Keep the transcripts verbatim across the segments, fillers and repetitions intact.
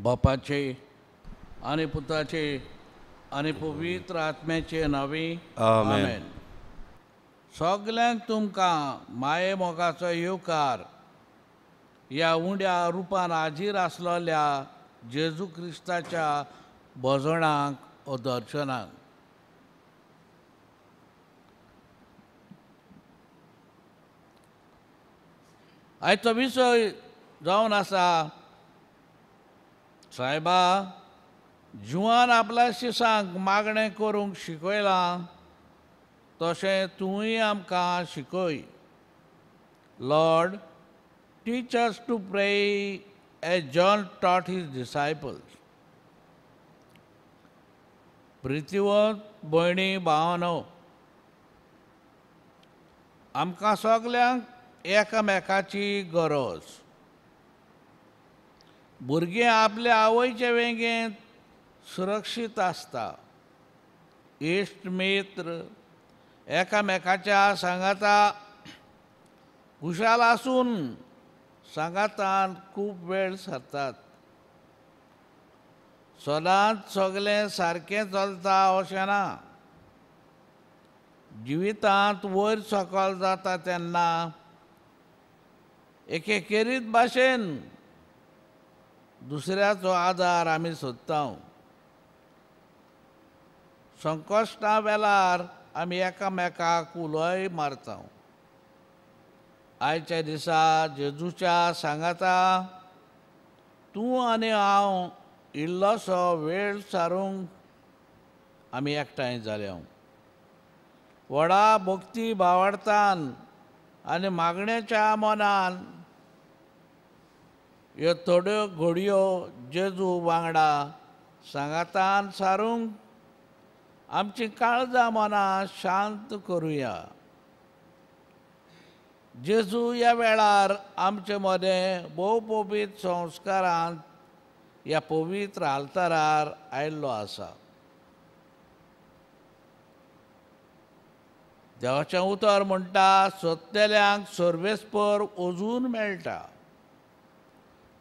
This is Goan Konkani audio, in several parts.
बापाचे आनी पुताचे आनी पवित्र आत्म्याचे नांवी आमेन. सगल्यांक तुमकां माये मोगाचो येवकार ह्या उंड्या रुपान हाजीर आसलेल्या जेजू क्रिस्ताच्या भजणाक ओ दर्शनाक. आयचो विशय जावन आसा, सायबा जुवान आपल्या शिसांक मागणें करूंक शिकयलां तशें तूंय आमकां शिकय. Lord, teach us to pray as John taught his disciples. प्रितीवंत भयणी भावनो, आमकां सगल्यांक एकामेकाची गरज. भुरगीं आपल्या आवयचे वेंगेंत सुरक्षीत आसता. इश्ट मित्र एकामेकाच्या सांगाता खुशाल आसून सांगातान खूब वेळ सरतात. सदांच सगळें सारकें चलता अशें ना. जिवितांत वयर सकयल जाता तेन्ना एके खेरीत भाशेन दुसऱ्याचो आदार आमी सोदता. संकश्टा वेळार आमी एकामेकाक उलोय मारता. आयच्या दिसा जेजूच्या सांगाता तूं आनी हांव इल्लोसो वेळ सारूंक आमी एकठांय जाल्या. व्हडा भक्ती भावार्थान आनी मागण्याच्या मनान ह्यो थोड्यो घडयो जेजू वांगडा सांगातान सारूंक आमची काळजां मनां शांत करुया. जेजू ह्या वेळार आमचे मदें भोव पवित्र संस्कारांत ह्या पवित्र आल्तारार आयिल्लो आसा. देवाचें उतर म्हणटा, सोदतल्यांक सर्वेस्पर अजून मेळटा.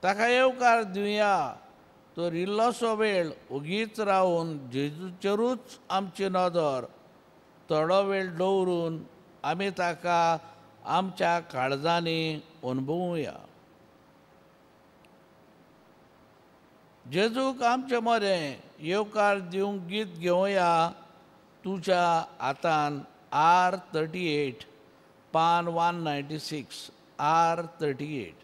ताका येवकार दिवया तर इल्लोसो वेळ ओगीच रावन जेजूचेरूच आमची नदर थोडो वेळ दवरून आमी ताका आमच्या काळजांनी अणभवुया. जेजूक आमचे मदें येवकार दिवंक गीत घेवया. तुज्या हातान आर थर्टी एट पान one ninety six, R thirty eight.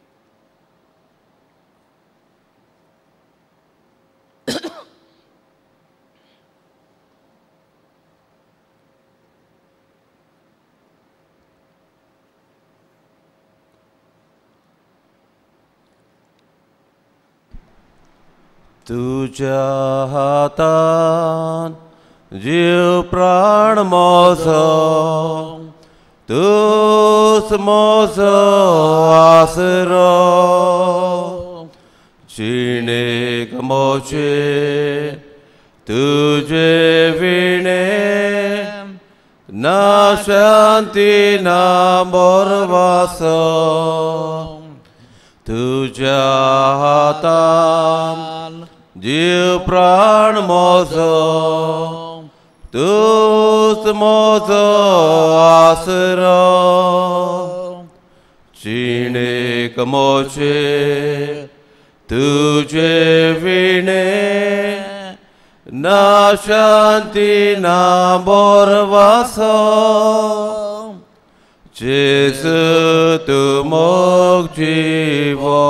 तुझ्या हातान जीव प्राण मोजो, तूच मोजो आसरो. जिणेक मोजे तुझे विणे ना शांती ना बोरवासो. तुझ्या हातान जीव प्राण मोजो, तूच मोजो आसरो. जिणेक मोजे तुझे विणे ना शांती ना बोरवासो. जेजू तूं मोग जिवो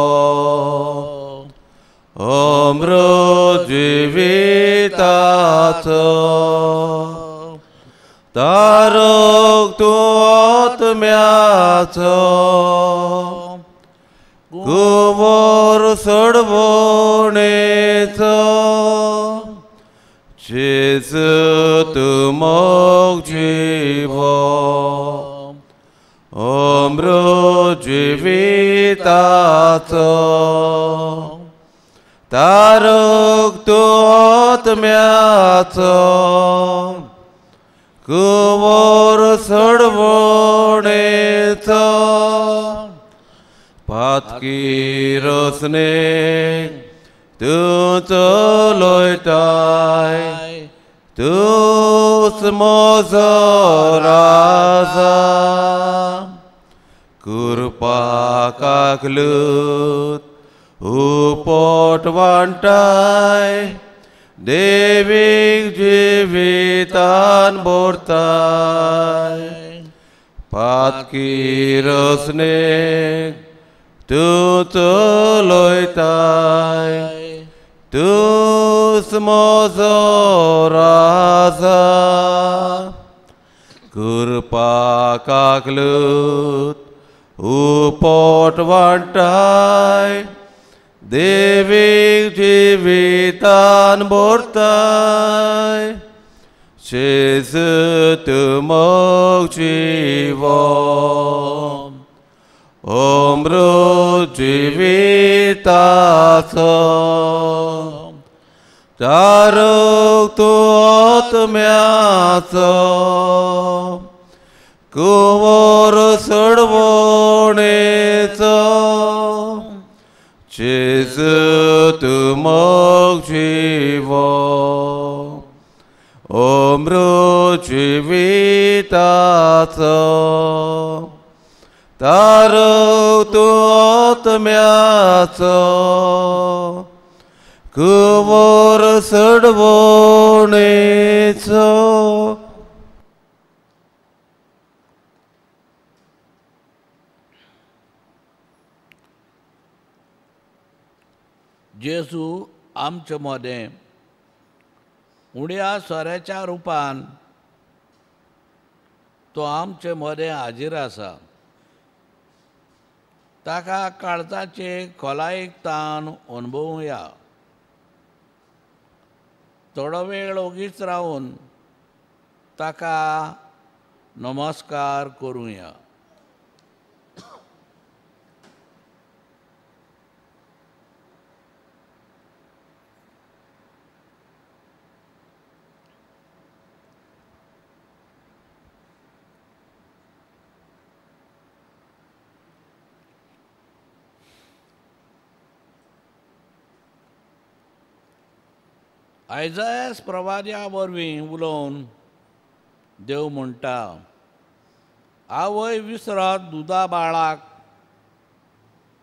अमृत जिविताचो, तारक तूं आत्म्याचो, कुंवर सोडवणेचो. जेजू तूं मोग जिवो अमृत जिविताचो, तारक तूं आत्म्याचो, कुंवर सोडवणेचो. पातकी रचनेक तूं चलयताय तूंच म्हजो राजा कृपा काकलूत उपट वांटाय देवीक जिवितान भरताय पातकी रसनेक तूं चलयताय तूंच म्हजो राजा कृपा काकलूत उपट वांटाय देवीक जिवितान भरताय जेजू तूं मोग जिवो अमृत जिविताचो तारक तूं आत्म्याचो कुंवर सोडवणेचो जेजू तूं मोग जिवो अमृत जिविताचो तारक तूं आत्म्याचो कुंवर सोडवणेचो. जेजू आमचे मदें उण्या सोऱ्याच्या रुपान तो आमचे मदें हाजीर आसा. ताका काळजाचे खोलायेक ताण अणभवया. थोडो वेळ ओगीच रावन ताका नमस्कार करुया. आयजायस प्रवाद्या वरवीं उलोवन देव म्हणटा, आवय विसरत दुदा बाळाक,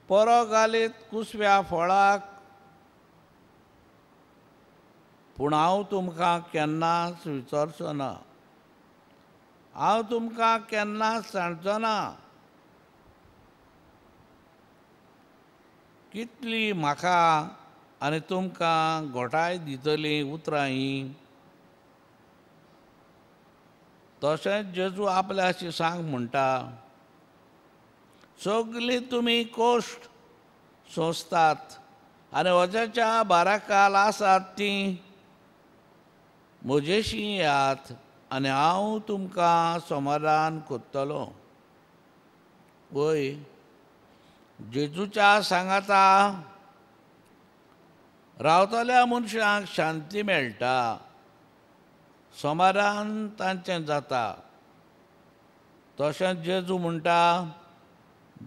परो घालीत कुसव्या फळाक, पूण हांव तुमकां केन्नाच विसरचो ना, हांव तुमकां केन्नाच सांडचो ना. कितली म्हाका आनी तुमकां घोटाय दितली उतरां हीं. तशेंच जेजू आपल्या शिसांक म्हणटा, सगळीं तुमी कोश्ट सोंसतात आनी वज्याच्या बाराकाल आसात तीं म्हजेशी येयात आनी हांव तुमकां समाधान करतलो. वय जेजूच्या सांगाता रावतल्या मनशांक शांती मेळटा, समाधान तांचें जाता. तशेंच जेजू म्हणटा,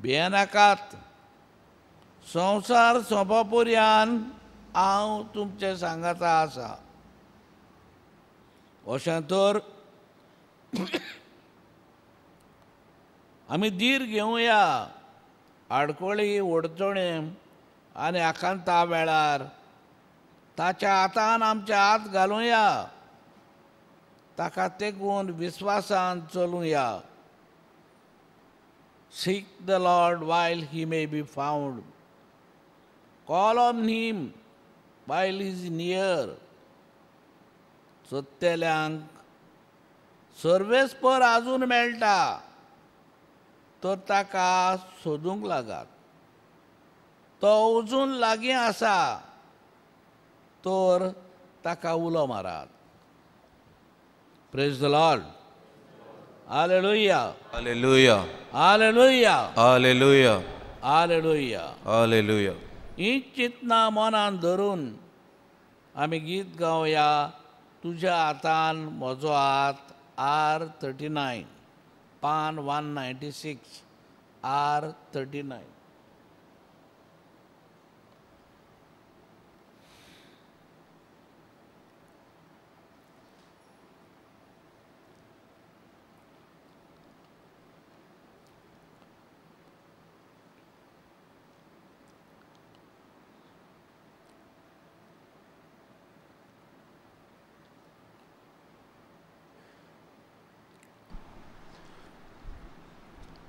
भियेनाकात, संवसार सोंपा पर्यान हांव तुमचे सांगाता आसा. अशें तर आमी धीर घेवया. आडखळी अडचणी आनी आकांता वेळार ताच्या हातान आमचे हात घालुया, ताका तेकून विस्वासान चलुया. Seek the Lord while he may be found, call on him while he is near. सोदतल्यांक सर्वेस्पर आजून मेळटा तर ताका सोदूंक लागात. तो अजून लागीं आसा तर ताका उलो मारात. Praise the Lord. Hallelujah. Hallelujah. Hallelujah. Hallelujah. Hallelujah. Hallelujah. ही चिंतना मनान धरून आमी गीत गावया. तुज्या हातान म्हजो हात, आर थर्टी नायन, पान one ninety six, R thirty nine.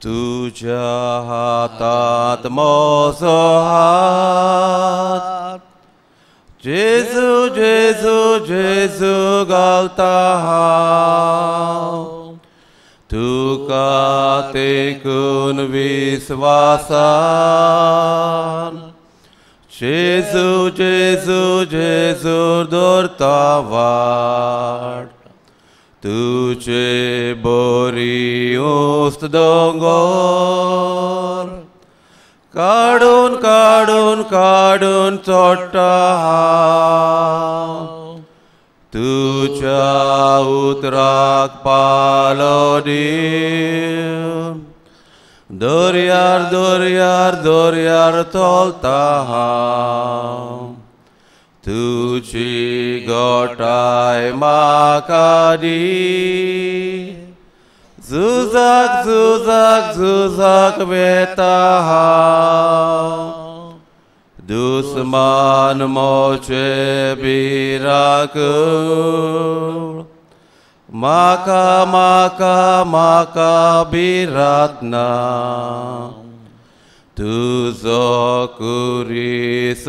तुझ्या हातात म्हजो हात जेजू जेजू जेजू घालता हांव तुका तेकून विस्वासान जेजू जेजू जेजू दवरता वाट तुझे बोरी उस्त दोंगर काडून काडून काडून चोडटा हांव तुज्या उतराक पालो दिवन दर्यार दर्यार दर्यार चलता हांव तुजी गोठाय म्हाका दी झुजाक झुजाक झुजाक वेता हांव दुस्मान मोचे भिरांकूळ म्हाका म्हाका म्हाका भिरांत ना तुजो कुरीस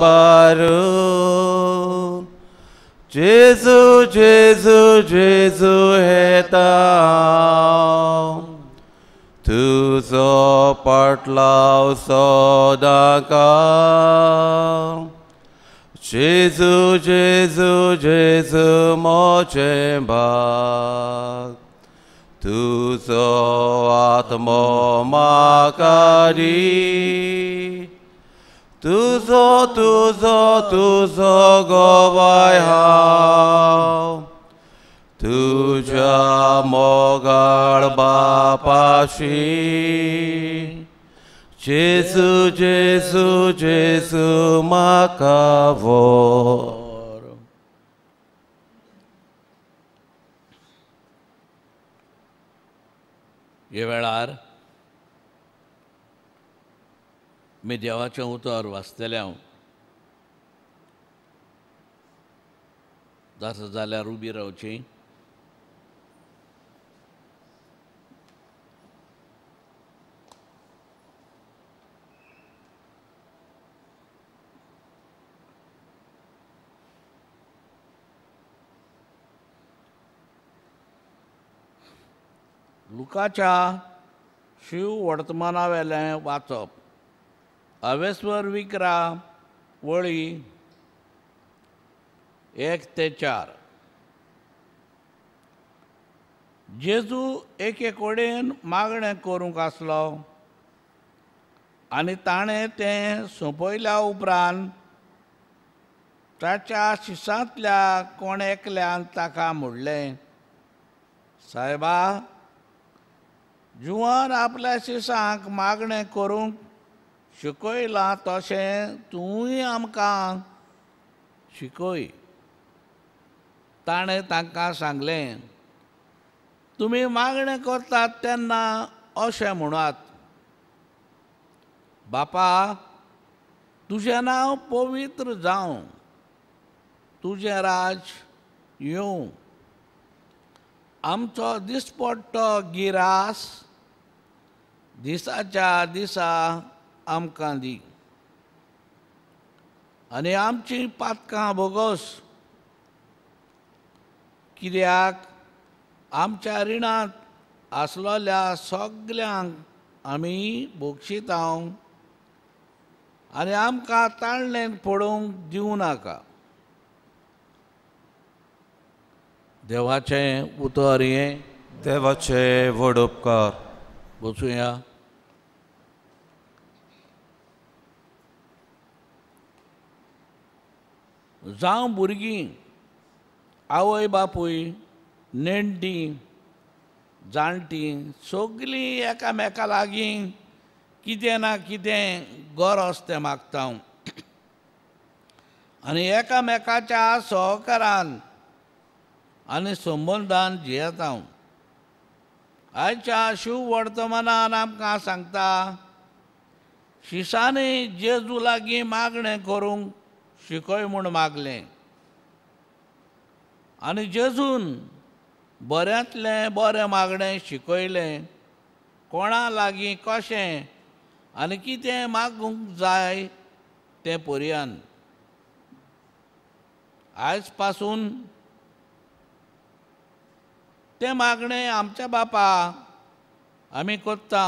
बारून जेजू जेजू जेजू हेता तुजो पाटलाव सदांकाळ जेजू जेजू जेजू म्हजें भाग तुजो आत्मो म्हाका दी तुजो तुजो तुजो गवाय हांव तुज्या मोगाळ बापाशी जेजू जेजू जेजू म्हाका व्हर. हे वेळार मी देवाचें उतर वाचतलें हांव जाता जाल्यार उबी रावची. लुकाच्या शिव वर्तमानावेलें वाचप. अवेस्वर विक्रा वळी एक ते चार. जेजू एके कडेन मागणें करूंक आसलो आनी ताणें तें सोंपयल्या उपरांत ताच्या शिसांतल्या कोण एकल्यान ताका म्हणलें, सायबा, जुवान आपल्या शिसांक मागणें करूंक शिकयलां तशें तूंय आमकां शिकय. ताणें तांकां सांगलें, तुमी मागणें करतात तेन्ना अशें म्हणात, बापा, तुजें नांव पवित्र जावं, तुजें राज येवं, आमचो दिसपट्टो गिरास दिसाच्या दिसा आमकां दी आनी आमचीं पातकां भोगोस, कित्याक आमच्या रिणांत आसलोल्या सगल्यांक आमी भोगशिता आनी आमकां ताळणेन पडूंक दिवं नाका. देवाचें उतर हें. देवाचे व्हड उपकार. बसुया. जावं भुरगीं, आवय बापूय, नेण्टीं, जाणटीं सगलीं एकामेका लागीं कितें ना कितें गरज तें मागता आनी एकामेकाच्या सहकारान आनी संबंदान जियेता. आयच्या शिव वर्तमानान आमकां सांगता, शिसांनी जेजू लागीं मागणें करूंक शिकय म्हूण मागलें आनी जेजून बऱ्यांतलें बरें मागणें शिकयलें कोणा लागीं कशें आनी कितें मागूंक जाय तें पर्यान। आयज पासून तें मागणें आमच्या बापा आमी करता,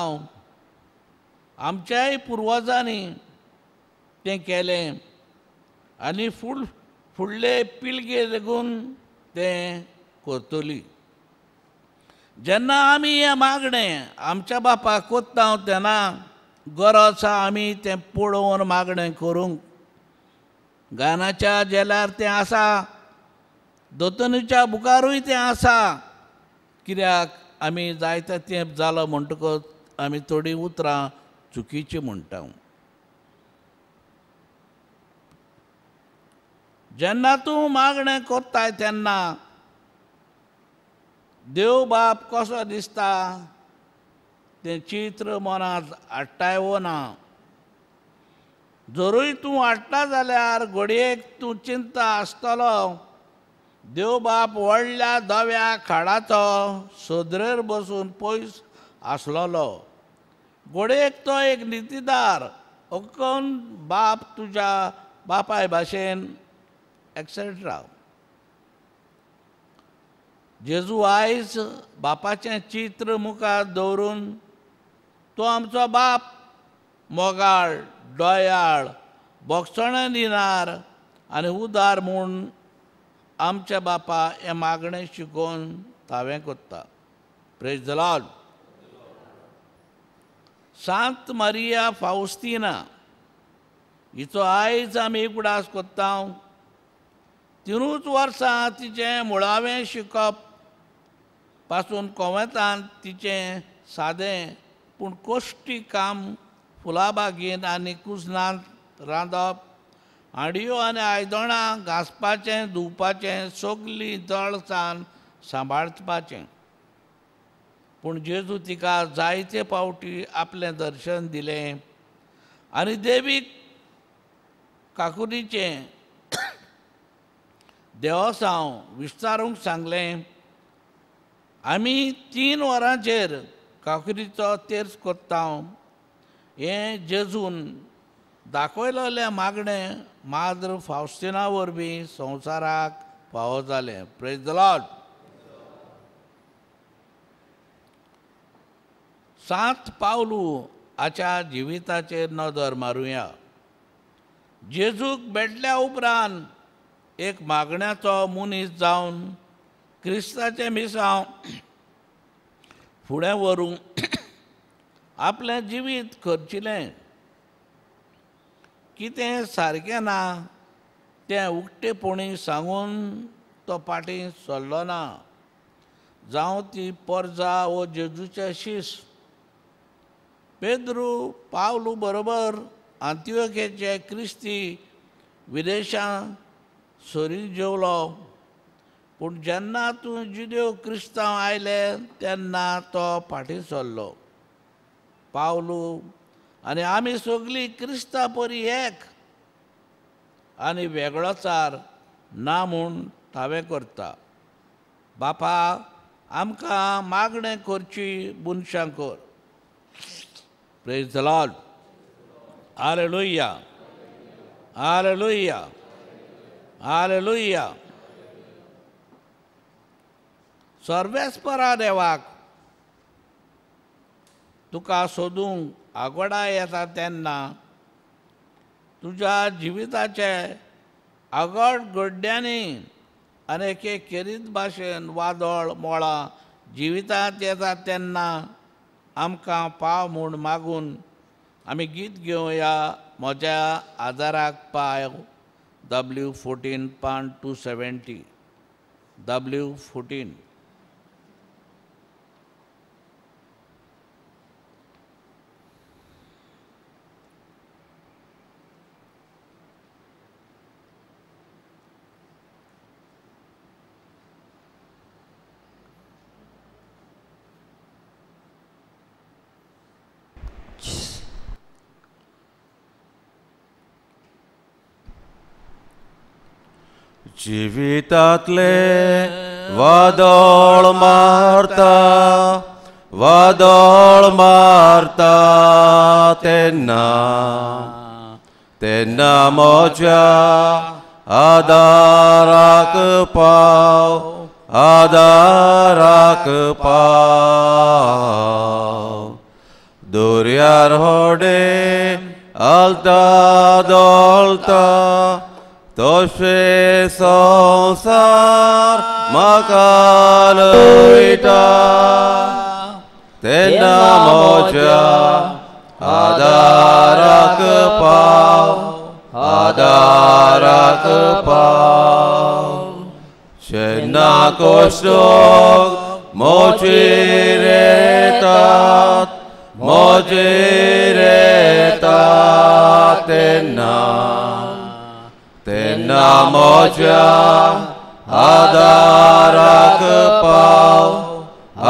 आमच्याय पुर्वजांनी तें केलें आनी फुड फुडले पिळगे लेगून तें करतली। जेन्ना आमी हें मागणें आमच्या बापाक करता तेन्ना गरज आसा आमी तें पळोवन मागणें करूंक। गानाच्या जेल्यार तें आसा, दोतोनीच्या बुकारूय तें आसा, कित्याक आमी जायते तेंप जालो म्हणटकच आमी थोडीं उतरां चुकीचीं म्हणटा। जेन्ना तूं मागणें करताय तेन्ना देव बाप कसो दिसता तें चित्र मनांत हाडटाय वो ना। जरूय तूं हाडटा जाल्यार घडयेक तूं चिंता आसतलो देव बाप व्हडल्या धव्या खाडाचो सदरेर बसून पयस आसलेलो, घडयेक तो एक नितीदार अकन बाप तुज्या बापाय भाशेन एक्सेट्रा। जेजू आयज बापाचें चित्र मुखार दवरून तो आमचो बाप मोगाळ, दयाळ, बोगसणें दिनार आनी उदार म्हूण आमच्या बापा हें मागणें शिकोवन तावें करता। Praise the Lord. Sant Maria Faustina हिचो आयज आमी उगडास करता। तिनूच वर्सां तिचें मुळावें शिकप पासून कोवेंतान तिचें सादें पूण कश्टी काम फुलाबागेन आनी कुजनांत रांदप, हांडयो आनी आयदनां घांसपाचें, धुवपाचें, सगळीं जळसान सांबाळपाचें। पूण जेजू तिका जायते पावटी आपलें दर्शन दिलें आनी देवीक काकुरीचें देवसांव विस्तारूंक सांगलें। आमी तीन वरांचेर काकुरीचो तेर्स करता हें जेजून दाखयलेलें मागणें माद्र फावस्टिना वरवीं संवसाराक फावो जालें। Praise the Lord. Sant Pavlu हाच्या जिविताचेर नदर मारुया। जेजूक भेटल्या उपरांत एक मागण्याचो मनीस जावन क्रिस्ताचें मिसांव फुडें व्हरूंक आपलें जिवीत खर्चिलें। कितें सारकें ना तें उक्तेपणी सांगून तो फाटीं सरलो ना, जावं ती परजा वो जेजूचे शीस। पेद्रू पावलू बरोबर आंतियोखेचे क्रिस्ती विदेशां सरी जेवलो, पूण जेन्ना तूं जुदेव क्रिस्तांव आयले तेन्ना तो फाटीं सरलो। पावलू आनी आमी सगळीं क्रिस्ता परी एक आनी वेगळोचार ना म्हूण तावें करता। बापा आमकां मागणें करची मनशां कर। Praise the Lord. Hallelujah, hallelujah, hallelujah. सर्वेस्परा देवाक तुका सोदूंक आगोडा येता तेन्ना तुज्या जिविताचे आगोड गड्ड्यांनी आनी एके खेरीत भाशेन वादळ मोळां जिवितांत येता तेन्ना आमकां पाव म्हूण मागून आमी गीत घेवया म्हज्या आदाराक पाय डब्ल्यू फोर्टीन पान टू सेवेंटी डब्ल्यू फोर्टीन। जिवितांतले वादळ मारता वादळ मारता तेन्ना तेन्ना म्हज्या आदाराक पाव आदाराक पाव दर्यार होडे आलता दोलता तशें संवसार म्हाका लयटा तेन्ना म्हज्या आदाराक पाव आदाराक पाव जेन्ना कश्टोक म्हजेर येतात म्हजेर येतात तेन्ना तेन्ना म्हज्या आदाराक पाव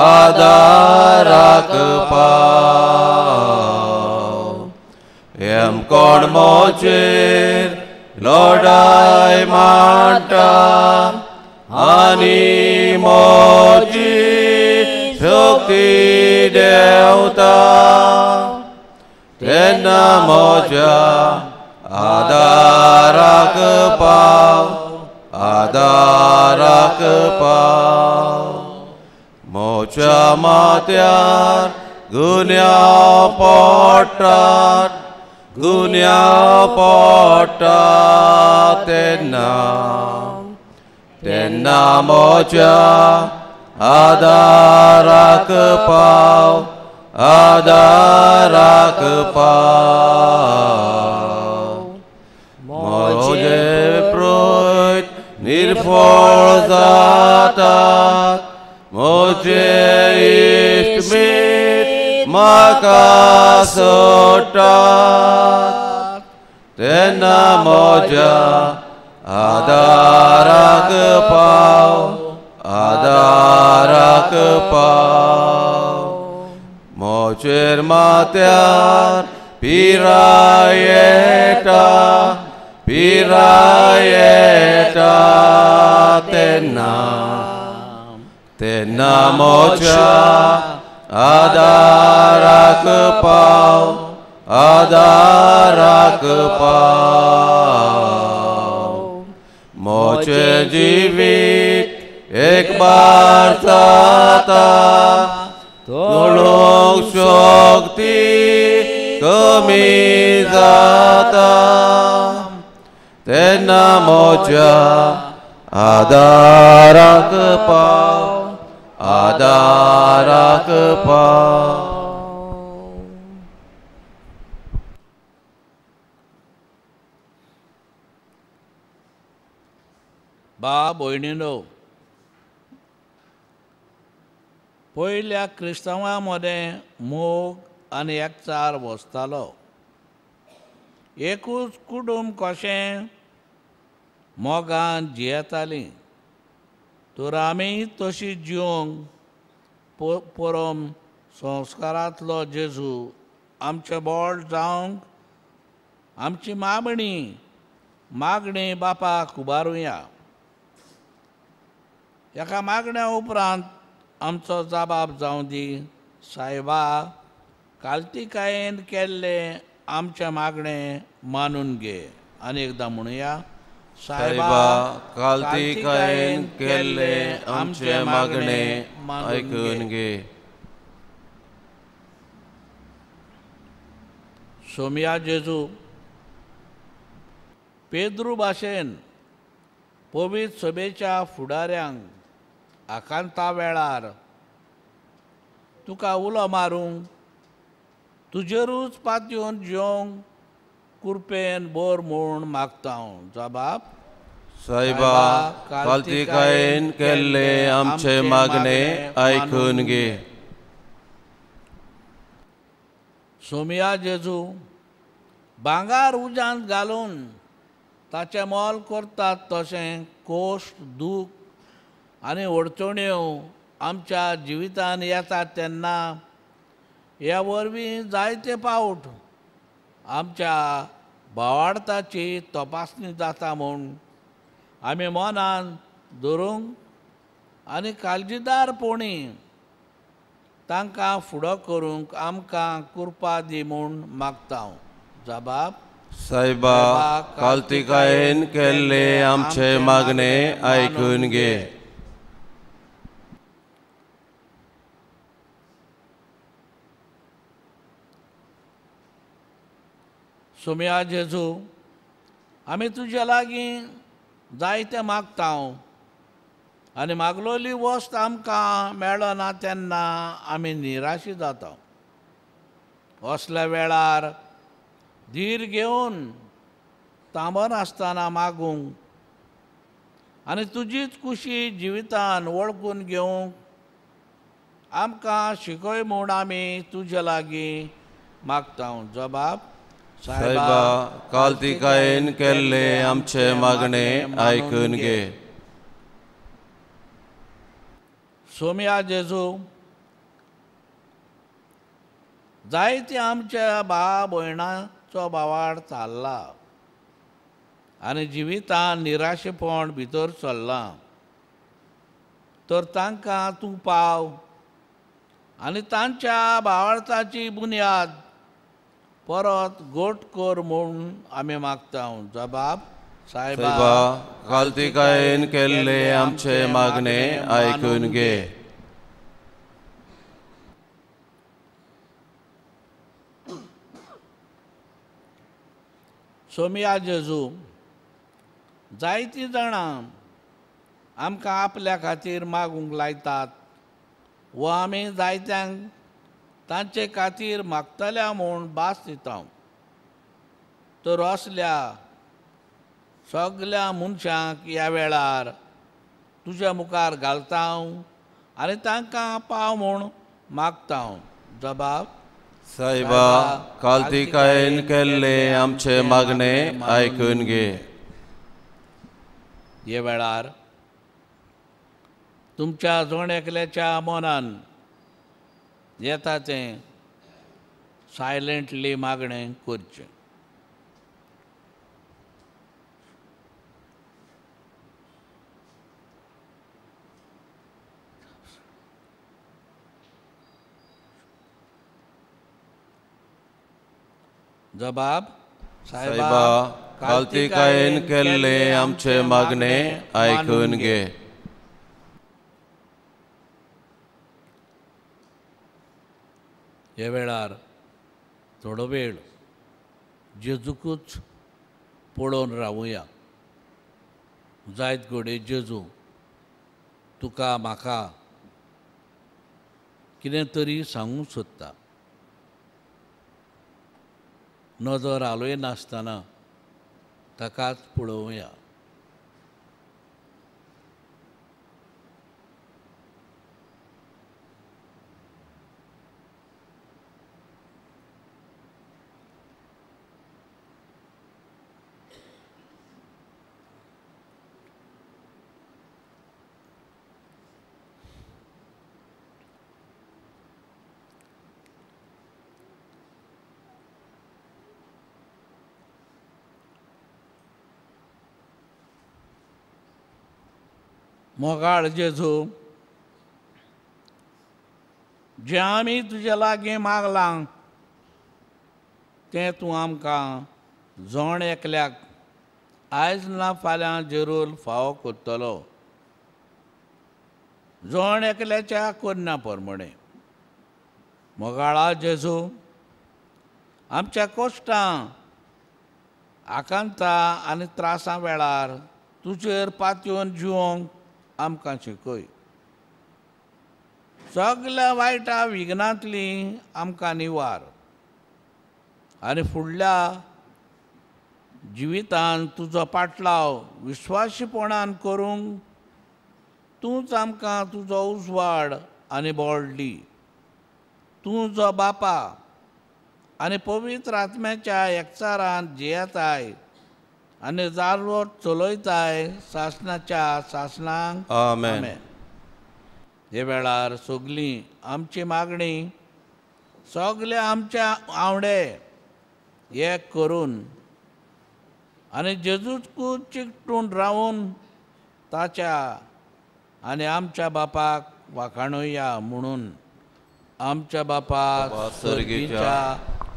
आदाराक पाव एम कोण म्हजेर लडाय मांडटा आनी म्हजी शक्ती देंवता तेन्ना म्हज्या आदाराक पाव आदाराक पाव म्हज्या माथ्यार गुन्यांव पडटात गुन्यांव पडटात तेन्ना तेन्ना म्हज्या आदाराक पाव आदाराक पाव म्हजे प्रोत निर्फळ जातात म्हजे इश्टमीत म्हाका सोडटात तेन्ना म्हज्या आदाराक पाव आदाराक पाव म्हजेर माथ्यार पिराय येता पिराय येता तेन्ना तेन्ना म्हज्या आदाराक पाव आदाराक पाव म्हजें जिवीत एक बार जाता चलूंक शक्ती कमी जाता तेन्ना म्हज्या आदाराक पाव आदाराक पाव. बा भयणीनो, पयल्या क्रिस्तांवां मदें मोग आनी एकचार वसतालो. एकूच कुटुंब कशें मोगान जियेतालीं. तर आमी तशी जिवंक परम संस्कारांतलो जेजू आमचें बोळ जावंक आमची मागणी मागणी बापाक उबारुया. एका मागण्या उपरांत आमचो जबाब जावं दी, सायबा कालतिकायेन केल्लें आमचें मागणें मानून घे. आनी एकदां म्हणुया, सायबा कालतिकायेन केल्लें आमचें मागणें आयकून घे. सोमया जेजू पेद्रू भाशेन पवित्र सभेच्या फुडाऱ्यांक आकांता वेळार तुका उलो मारूंक तुजेरूच पातयेवन जिवंक कुरपेन बोर म्हूण मागता हांव. जबाब, सायबा कालतिकायेन केल्लें आमचें मागणें आयकून घे. सोमया जेजू भांगर उज्यांत घालून ताचें मोल करतात तशें कोश्ट दूख आनी अडचण्यो आमच्या जिवितान येतात तेन्ना ह्या वरवीं जायते पावट आमच्या भावार्थाची तपासणी जाता म्हूण आमी मनान धरूंक आनी काळजीदारपणी तांकां फुडो करूंक आमकां कृपा दी म्हूण मागता. जबाब सायबा कालतिकायेन केल्ले आमचे मागणे आयकून घे. सोम्या जेजू, आमी तुज्या लागीं जायतें मागता आनी मागलोली वस्त आमकां मेळना तेन्ना आमी निराशी जाता. असल्या वेळार धीर घेवन थांबनासतना मागूंक आनी तुजीच कुशी जिवितान वळखून घेवंक आमकां शिकय म्हूण आमी तुज्या लागीं मागता. जबाब सायबा कालतिकायेन केल्ले आमचे मागणे आयकून घे. सोम्या जेजू, जायते आमच्या भाव भयणाचो भावाड चालला आनी जिवितान निराशेपण भितर चल्लां, तर तांकां तूं पाव आनी तांच्या भावार्थाची बुन्याद परत गोट कर म्हूण आमी मागता. जबाब सायबा कालतिकायेन केल्ले आमचे मागणे आयकून घे. सोम्या जेजू, जायतीं जाणां आमकां आपल्या खातीर मागूंक लायतात वा आमी जायत्यांक तांचे खातीर मागतल्या म्हूण भास दिता, तर असल्या सगल्या मनशांक ह्या वेळार तुज्या मुखार घालता आनी तांकां पाव म्हूण मागता. जबाब सायबा कालतिकायेन केल्ले आमचे मागणे आयकून घे. हे वेळार तुमच्या जण एकल्याच्या मनान येता तें सायलेंटली मागणें करचें. जबाब सायबा कालतिकायेन केल्ले आमचे मागणे आयकून घे. ह्या वेळार थोडो वेळ जेजूकूच पळोवन रावुया. जायत घडये जेजू तुका म्हाका कितें तरी सांगूंक सोदता. नदर हालयनासतना ताकाच पळोवया. मोगाळ जेजू, जें आमी तुज्या लागीं मागलां तें तूं आमकां जण एकल्याक आयज ना फाल्यां जरूर फावो करतलो, जण एकल्याच्या करण्या प्रमाणें. मोगाळा जेजू, आमच्या कश्टां आकांतां आनी त्रासां वेळार तुजेर पातयेवन जिवोंक आमकां शिकय. सगल्या वायटा विघ्नांतली आमकां निवार आनी फुडल्या जिवितान तुजो पाटलाव विश्वासीपणान करूंक तूंच आमकां तुजो उजवाड आनी बळ दी. तूं जो बापा आनी पवित्र आत्म्याच्या एकचारान जियेताय आनी जारवट चलयताय सासणाच्या सासणांक. आमेन. हे वेळार सगळीं आमची मागणी सगळे आमच्या आवडे एक करून आनी जेजूकूच चिकटून रावून ताच्या आनी आमच्या बापाक वाखाणुया म्हणून आमच्या बापा सर्गीच्या,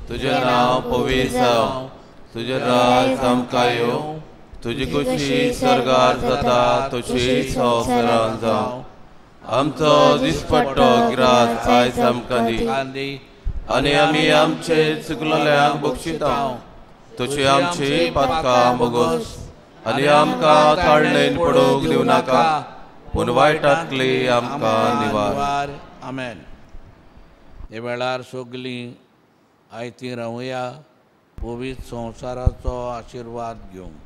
तुजें नांव पवित्र जावं, तुजें राज आमकां येवं, तुजी खुशी सर्गार जाता तशी संवसारांत जावं. आमचो दिसपट्टो ग्रास आयज आमकां दी, आनी आमी आमचे चुकलेल्यांक बक्षिता तशी आमची पातकां भोगोस, आनी आमकां ताळणेन पडूंक दिवं नाका, पूण वायटांतली आमकां निवार. आमेन. हे वेळार सगलीं आयतीं रावया, पवित्र संवसाराचो आशिर्वाद घेवंक.